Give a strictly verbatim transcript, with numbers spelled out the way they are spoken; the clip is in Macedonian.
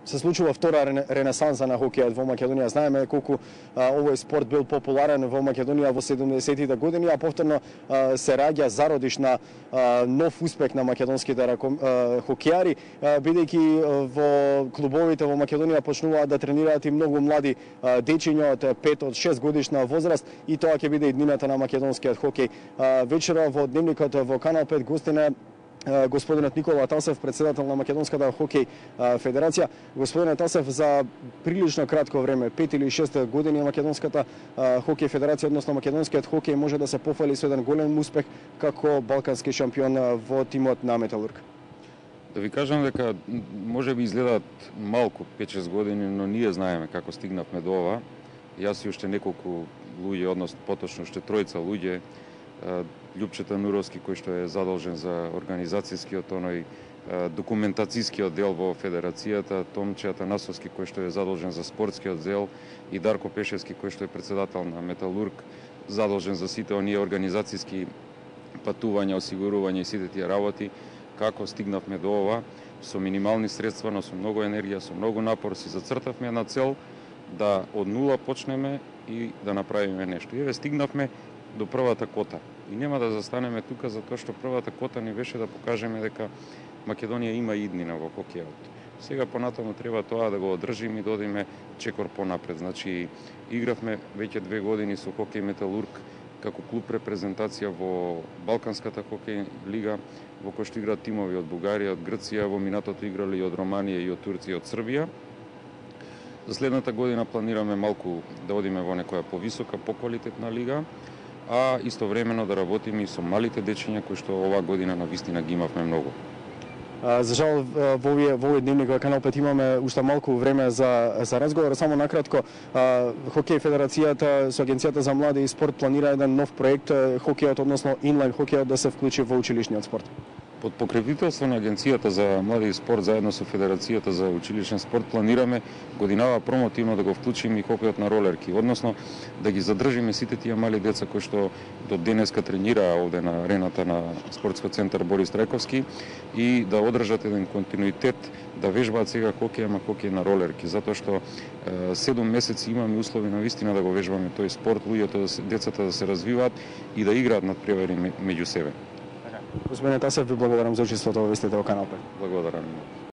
се случува втора ренесанса на хокејот во Македонија. Знаеме колку а, овој спорт бил популарен во Македонија во седумдесетите години, а повторно а, се раѓа зародиш на а, нов успех на македонските раком, а, хокејари, а, бидејќи во клубовите во Македонија почнуваат да тренираат и многу млади а, дечиња од пет од шест годишна возраст, и тоа ќе биде и днината на македонскиот хокеј. А, вечера во дневникот во Канал пет гостина господинот Никола Тасев, председател на Македонската хокеј федерација. Господине Тасев, за прилично кратко време, пет или шест години, Македонската хокеј федерација, односно македонскиот хокеј, може да се пофали со еден голем успех како балкански шампион во тимот на Металург. Да ви кажам дека може би изгледаат малку пет-шест години, но ние знаеме како стигнавме до ова. Јас и уште неколку луѓе, односно поточно уште тројца луѓе, Љупчета Нуровски, кој што е задолжен за организацијскиот, оној документацијскиот дел во федерацијата, Томче Атанасовски, кој што е задолжен за спортскиот дел, и Дарко Пешевски, кој што е председател на Металург, задолжен за сите оние организацијски патувања, осигурување и сите тие работи. Како стигнавме до ова, со минимални средства, но со многу енергија, со многу напор, си зацртавме една цел да од нула почнеме и да направиме нешто. И еве стигнавме до првата кота. И нема да застанеме тука, затоа што првата кота ни беше да покажеме дека Македонија има иднина во хокејот. Сега понатаму треба тоа да го одржиме и да одиме чекор понапред. Значи, игравме веќе две години со Хокеј Металург како клуб репрезентација во Балканската хокеј лига, во кој што играат тимови од Бугарија, од Грција, во минатото играли и од Романија, и од Турција, и од Србија. За следната година планираме малку да одиме во некоја повисока, поквалитетна лига, а истовремено да работиме и со малите дечиња кои што оваа година навистина ги имавме многу. За жал, во овој во овој дневник во Канал пет имаме уште малку време за за разговор. Само накратко, Хокеј федерацијата со Агенцијата за млади и спорт планира еден нов проект, хокејот, односно инлайн хокејот, да се вклучи во училишниот спорт. Под покровителство на Агенцијата за млади и спорт заедно со Федерацијата за училишен спорт планираме годинава промотивно да го вклучиме и хокејот на ролерки, односно да ги задржиме сите тие мали деца кои што до денеска тренираа овде на арената на спортскиот центар Борис Трајковски и да одржат еден континуитет да вежбаат сега хокеј, ама хокеј на ролерки, затоа што седум месеци имаме услови на вистина да го вежбаме тој спорт, луѓето, децата да се развиваат и да играат надпревари меѓу себе. Господине Тасев, ви благодарам за учеството во вестите во Канал пет. Благодарам.